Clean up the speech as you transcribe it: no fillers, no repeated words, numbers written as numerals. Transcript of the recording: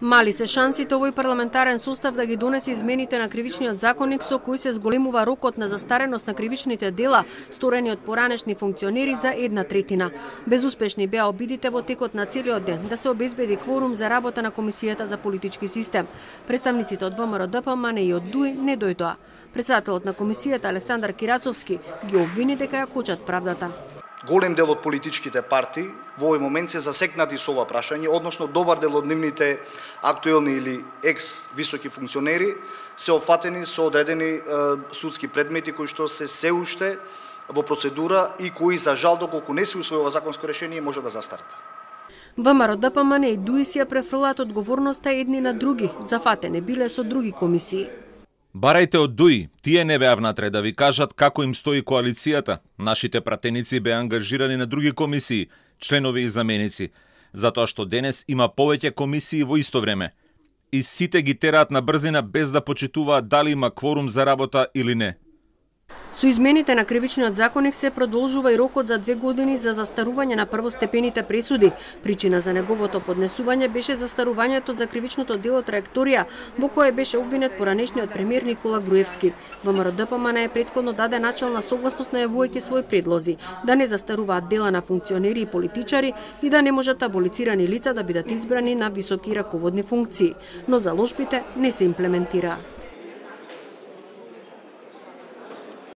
Мали се шансите овој парламентарен состав да ги донесе измените на кривичниот законник со кои се зголемува рокот на застареност на кривичните дела сторени од поранешни функционери за 1/3. Безуспешни беа обидите во текот на целиот ден да се обезбеди кворум за работа на Комисијата за политички систем. Представниците од ВМРО-ДПМН и од ДУИ не дојдоа. Претседателот на комисијата Александар Кирацовски ги обвини дека ја кочат правдата. Голем дел од политичките партии во овој момент се засекнати со ова прашање, односно добар дел од нивните актуелни или екс-високи функционери се опфатени со одредени судски предмети кои што се уште во процедура и кои за жал доколку не се усвои ова законско решение може да застарат. ВМРО-ДПМН и ДУИ си ја префрлаат одговорноста едни на други, зафатени биле со други комисии. Барајте од ДУИ, тие не беа внатре да ви кажат како им стои коалицијата. Нашите пратеници беа ангажирани на други комисии, членови и заменици, затоа што денес има повеќе комисии во исто време. И сите ги тераат на брзина без да почитуваат дали има кворум за работа или не. Со измените на кривичниот законник се продолжува и рокот за 2 години за застарување на првостепените пресуди. Причина за неговото поднесување беше застарувањето за кривичното дело Траекторија, во кое беше обвинет поранешниот премиер Никола Груевски. ВМРО-ДПМН претходно даде начална согласност најавувајќи своји предлози да не застаруваат дела на функционери и политичари и да не можат аболицирани лица да бидат избрани на високи раководни функции, но заложбите не се имплементираа.